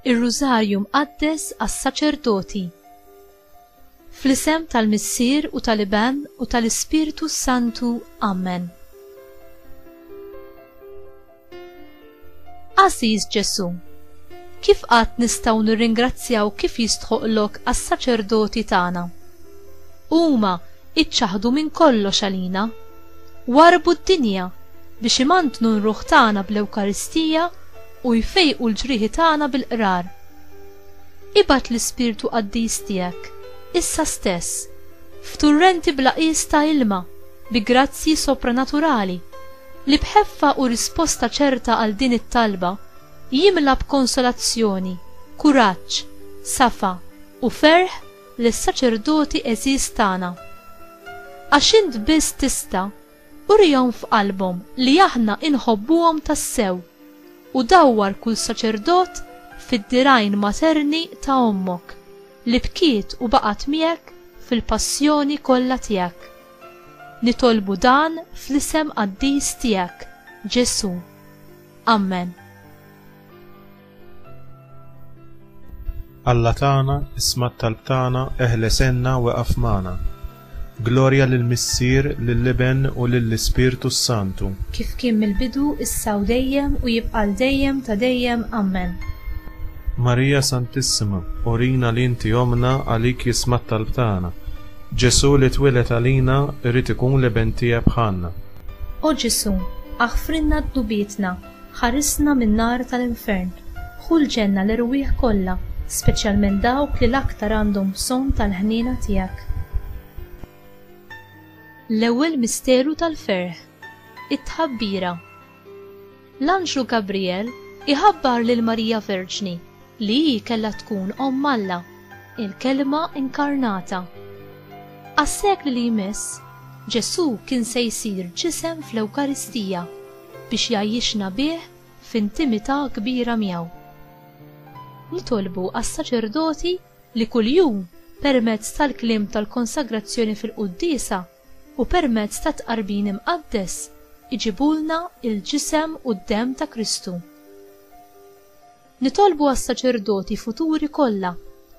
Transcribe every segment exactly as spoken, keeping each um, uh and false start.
Ir-Rużarju Mqaddes għas-Saċerdoti. Fl-isem tal-Missier u tal-Iben u tal-Ispirtu Santu. Amen. Għażiż Ġesù, kif qatt nistgħu nirringrazzjaw kif jistħoqlok għas-saċerdoti tagħna? Huma iċċaħdu minn kollox għalina, warbu d-dinja biex imantnu n-ruħ tagħna bl-Ewkaristija u jfejqu l-ġrieħi tagħna bil-qrar. Ibgħat l-Ispirtu Qaddis tiegħek, issa stess, f'turrenti bla qies ta' ilma, bi grazzji sopranaturali, li b'ħeffa u risposta ċerta għal din it-talba jimla b'konsolazzjoni, kuraġġ, safa u ferħ lis-saċerdoti għeżież tagħna. Għax int biss tista' urihom f'qalbhom li aħna inħobbuhom tassew, u dawwar kull saċerdot fid-dirgħajn materni ta' ommok, li bkiet u baqgħet miegħek fil-passjoni kollha tiegħek. Nitolbu dan fl-isem qaddis tiegħek, Ġesù. Amen. Alla tagħna, isma' t-talb tagħna, eħles għenna u eqaf magħna. Glorja lill-Missier, lill-Iben u lill-Ispirtu s-Santu. Kif kien mill-bidu, issa u dejjem u jibqa' l dejjem ta' dejjem. Amen. Marija Santissima, urina li inti omna għalik jisma' t-talb tagħna. Ġesù li twieled għalina irid ikun l-iben tiegħek bħalna. O Ġesù, aħfrilna dnubietna, ħarisna min-nar tal-infern, ħu l-ġenna l-erwieħ kollha, speċjalment dawk li l-aktar għandhom bżonn tal-ħniena tiegħek. L-ewwel misteru tal-ferħ, it-tħabbira. L-anġlu Gabriel iħabbar lil Marija Verġni li hi kellha tkun omm Alla, il-kelma inkarnata. Għas-sekli li jmiss, Ġesù kien se jsir ġisem fl-Ewkaristija biex jgħajjixna bih f'intimità kbira miegħu. Nitolbu għas-saċerdoti li kuljum permezz tal-kliem tal-konsagrazzjoni fil-quddiesa u permezz ta' tqarbin imqaddes iġibulna il-ġisem u d-demm ta' Kristu. Nitolbu għas-saċerdoti futuri kollha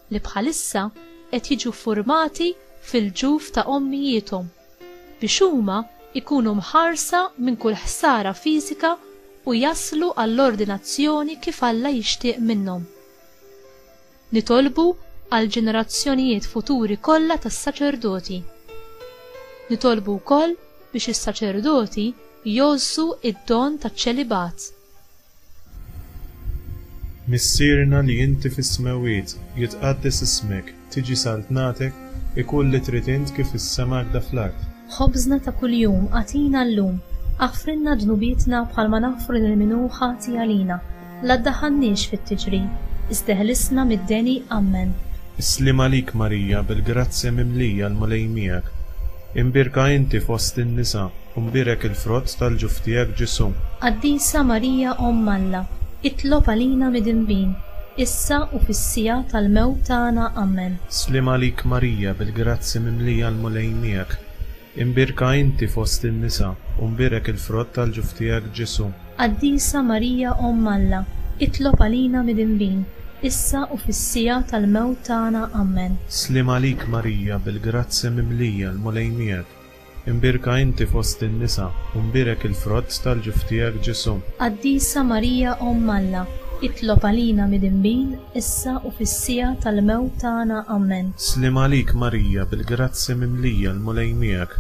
li bħalissa qed jiġu formati fil-ġuf ta' ommijiethom biex huma ikunu mħarsa minn kull ħsara fiżika u jaslu għall-ordinazzjoni kif Alla jixtieq minnhom. Nitolbu għal ġenerazzjonijiet futuri kollha tas-saċerdoti. Nitolbu wkoll biex is-saċerdoti jgħożżu id-don taċ-ċelibat. Missierna li inti fis-smewwiet, jitqaddes ismek, tiġi saltnatek, ikun li trid int kif is-sema hekk fl-art. Ħobżna ta' kuljum agħtina llum, aħfrilna dnubietna bħalma naħfru lil min hu ħati għalina, la ddaħħalniex fit-tiġrib, iżda ħlisna mid-deni. Amen. Is-sliem għalik Marija, bil-grazzja mimlija l-Mulej miegħek. Imbierka inti fost in-nisa, u mbierek il-frott tal-ġuf tiegħek Ġesù. Qaddisa Marija Omm Alla, itlob għalina midinbin, issa u fis-siegħa tal-mewt tagħna. Amen. Sliem għalik Marija, bil-grazzja mimlija l-Mulej miegħek. Imbierka inti fost in-nisa, u mbierek il-frott tal-ġuf tiegħek Ġesù. Qaddisa Marija Omm Alla, itlob għalina midinbin, issa u fis-siegħa tal-mewt tagħna. Amen. Sliem għalik Marija, bil-grazzja mimlija l-Mulej miegħek. Imbierka inti fost in-nisa, u mbierek il-frott tal-ġuf tiegħek Ġesù. Qaddisa Marija Omm Alla, itlob għalina midinbin, issa u fis-siegħa tal-mewt tagħna. Amen. Sliem għalik Marija, bil-grazzja mimlija l-Mulej miegħek.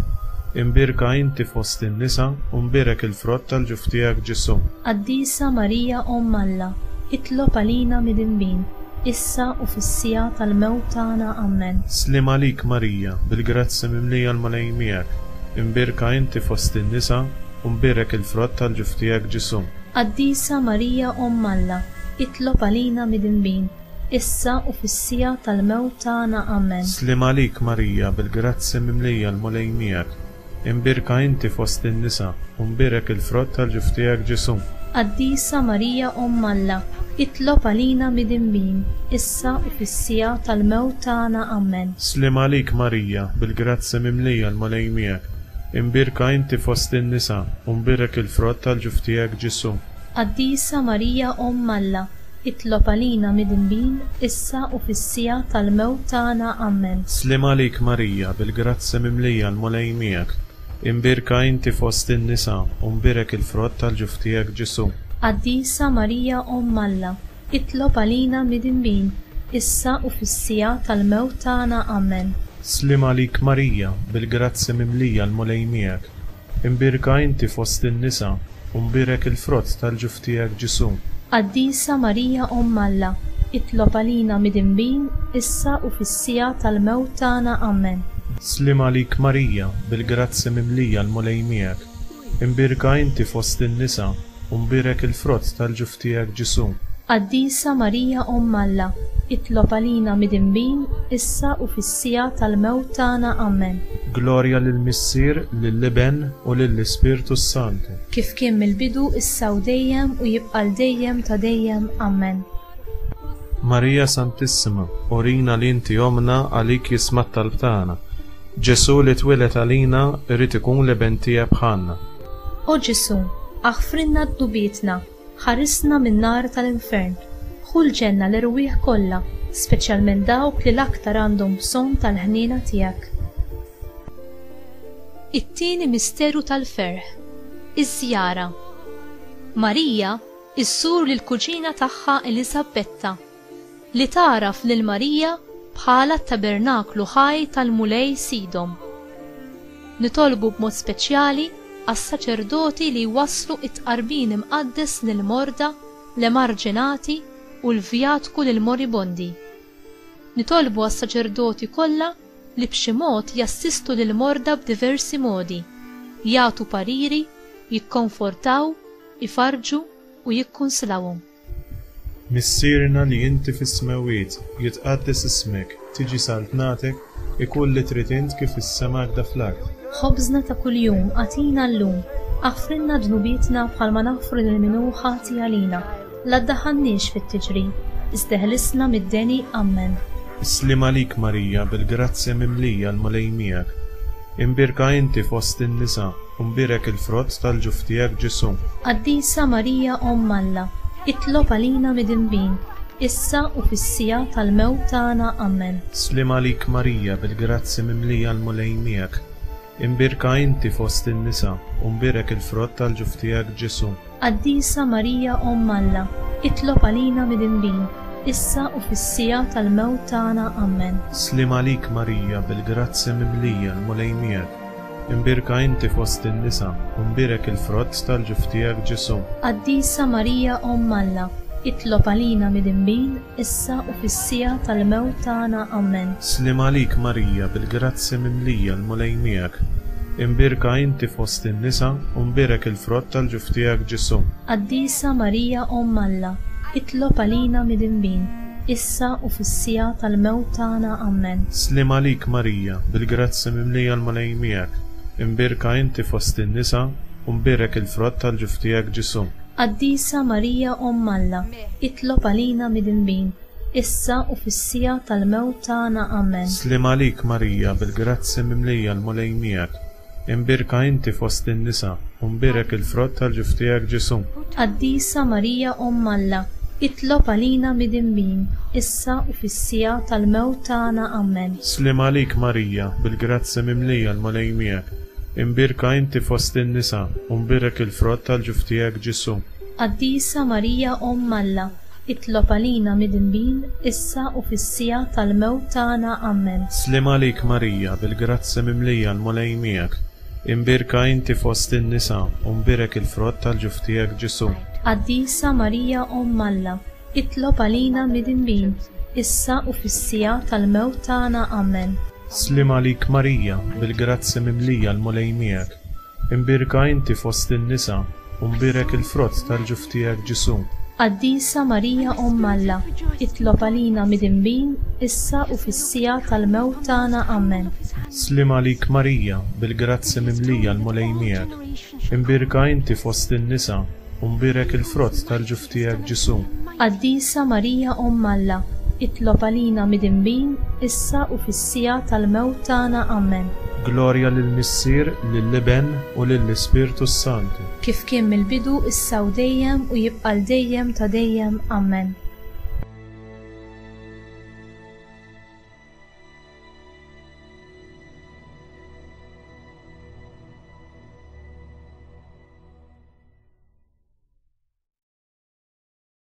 Imbierka inti fost in-nisa, u mbierek il-frott tal-ġuf tiegħek Ġesù. Qaddisa Marija Omm Alla, itlob għalina midinbin, issa u fis-siegħa tal-mewt tagħna. Amen. Sliem għalik Marija, bil-grazzja mimlija l-Mulej miegħek. Imbierka inti fost in-nisa, u mbierek il-frott tal-ġuf tiegħek Ġesù. Qaddisa Marija Omm Alla, itlob għalina midinbin, issa u fis-siegħa tal-mewt tagħna. Amen. Sliem għalik Marija, bil-grazzja mimlija l-Mulej miegħek. Imbierka inti fost in-nisa, u mbierek il-frott tal-ġuf tiegħek Ġesù. Qaddisa Marija Omm Alla, itlob għalina midinbin, issa u fis-siegħa tal-mewt tagħna. Amen. Sliem għalik Marija, bil-grazzja mimlija l-Mulej miegħek. Imbierka inti fost in-nisa, u mbierek il-frott tal-ġuf tiegħek Ġesù. Qaddisa Marija Omm Alla, Itlob għalina midinbin, issa u fis-siegħa tal-mewt tagħna. Amen. Sliem għalik Marija, bil-grazzja mimlija l-Mulej miegħek. Imbierka inti fost in-nisa, u mbierek il-frott tal-ġuf tiegħek Ġesù. Qaddisa Marija Omm Alla, itlob għalina midinbin, issa u fis-siegħa tal-mewt tagħna. Amen. Sliem għalik Marija, bil-grazzja mimlija l-Mulej miegħek. Imbierka inti fost in-nisa, u mbierek il-frott tal-ġuf tiegħek Ġesù. Qaddisa Marija Omm Alla, itlob għalina midinbin, issa u fis-siegħa tal-mewt tagħna. Amen. Sliem għalik Marija, bil-grazzja mimlija l-Mulej miegħek. Imbierka inti fost in-nisa, u mbierek il-frott tal-ġuf tiegħek Ġesù. Qaddisa Marija Omm Alla, itlob għalina midinbin, issa u fis-siegħa tal-mewt tagħna. Amen. Glorja lill-Missier, lill-Iben u lill-Ispirtu s-Santu. Kif kien mill-bidu, issa u dejjem u jibqa' l dejjem ta' dejjem. Amen. Marija Santissima, urina li inti omna għalik jisma' t-talb tagħna. Ġesù li twieled għalina irid ikun l-iben tiegħek bħalna. O Ġesù, aħfrilna dnubietna, ħarisna min-nar tal-infern, ħu l-ġenna l-erwieħ kollha, speċjalment dawk li l-aktar għandhom bżonn tal-ħniena tiegħek. It-tieni misteru tal-ferħ, iż-żjara. Marija issur lill-kuġina tagħha Eliżabetta, li tagħraf lil Marija bħala t-tabernaklu ħaj tal-Mulej Sidhom. Nitolbu b'mod speċjali għas-saċerdoti li jwasslu it-tqarbin imqaddes lill-morda, l-emarġinati u l-vjatku lill-moribondi. Nitolbu għas-saċerdoti kollha li b'xi mod jassistu lill-morda b'diversi modi, jagħtu pariri, jikkonfortaw, ifarrġu u jikkunsilawhom. Missierna li inti fis-smewwiet, jitqaddes ismek, tiġi saltnatek, ikun li trid int kif is-sema hekk fl-art. Ħobżna ta' kuljum agħtina llum, aħfrilna dnubietna bħalma naħfru lil min hu ħati għalina, la ddaħħalniex fit-tiġrib, iżda ħlisna mid-deni. Amen. Sliem għalik Marija, bil-grazzja mimlija l-Mulej miegħek. Imbierka inti fost in-nisa, u mbierek il-frott tal-ġuf tiegħek Ġesù. Qaddisa Marija Omm Alla, itlob għalina midinbin, issa u fis-siegħa tal-mewt tagħna. Amen. Sliem għalik Marija, bil-grazzja mimlija l-Mulej miegħek. Imbierka inti fost in-nisa, u mbierek il-frott tal-ġuf tiegħek Ġesù. Qaddisa Marija Omm Alla, itlob għalina midinbin, issa u fis-siegħa tal-mewt tagħna. Amen. Sliem għalik Marija, bil-grazzja mimlija l-Mulej miegħek. Imbierka inti fost in-nisa, u mbierek il-frott tal-ġuf tiegħek Ġesù. Qaddisa Marija Omm Alla, itlob għalina midinbin, issa u fis-siegħa tal-mewt tagħna. Amen. Sliem għalik Marija, bil-grazzja mimlija l-Mulej miegħek. Imbierka inti fost in-nisa, u mbierek il-frott tal-ġuf tiegħek Ġesù. Qaddisa Marija Omm Alla, itlob għalina midinbin, issa u fis-siegħa tal-mewt tagħna. Amen. Sliem għalik Marija, bil-grazzja mimlija l-Mulej miegħek. Imbierka inti fost in-nisa, u mbierek il-frott tal-ġuf tiegħek Ġesù. Qaddisa Marija Omm Alla, itlob għalina midinbin, issa u fis-siegħa tal-mewt tagħna. Amen. Sliem għalik Marija, bil-grazzja mimlija l-Mulej miegħek. Imbierka inti fost in-nisa, u mbierek il-frott tal-ġuf tiegħek Ġesù. Qaddisa Marija Omm Alla, itlob għalina midinbin, issa u fis-siegħa tal-mewt tagħna. Amen. Sliem għalik Marija, bil-grazzja mimlija l-Mulej miegħek. Imbierka inti fost in-nisa, u mbierek il-frott tal-ġuf tiegħek Ġesù. Qaddisa Marija Omm Alla, itlob għalina midinbin, issa u fis-siegħa tal-mewt tagħna. Amen. Sliem għalik Marija, bil-grazzja mimlija l-Mulej miegħek. Imbierka inti fost in-nisa, u mbierek il-frott tal-ġuf tiegħek Ġesù. Qaddisa Marija Omm Alla, itlob għalina midinbin, issa u fis-siegħa tal-mewt tagħna. Amen. Sliem għalik Marija, bil-grazzja mimlija l-Mulej miegħek. Imbierka inti fost in-nisa, u mbierek il-frott tal-ġuf tiegħek Ġesù. Qaddisa Marija Omm Alla, itlob għalina midinbin, issa u fis-siegħa tal-mewt tagħna. Amen. Sliem għalik Marija, bil-grazzja mimlija l-Mulej miegħek. Imbierka inti fost in-nisa, u mbierek il-frott tal-ġuf tiegħek Ġesù. Qaddisa Marija Omm Alla, itlob għalina midinbin, issa u fis-siegħa tal-mewt tagħna. Amen. Glorja lill-Missier, lill-Iben u lill-Ispirtu s-Santu. Kif kien mill-bidu, issa u dejjem u jibqa' l dejjem ta' dejjem. Amen.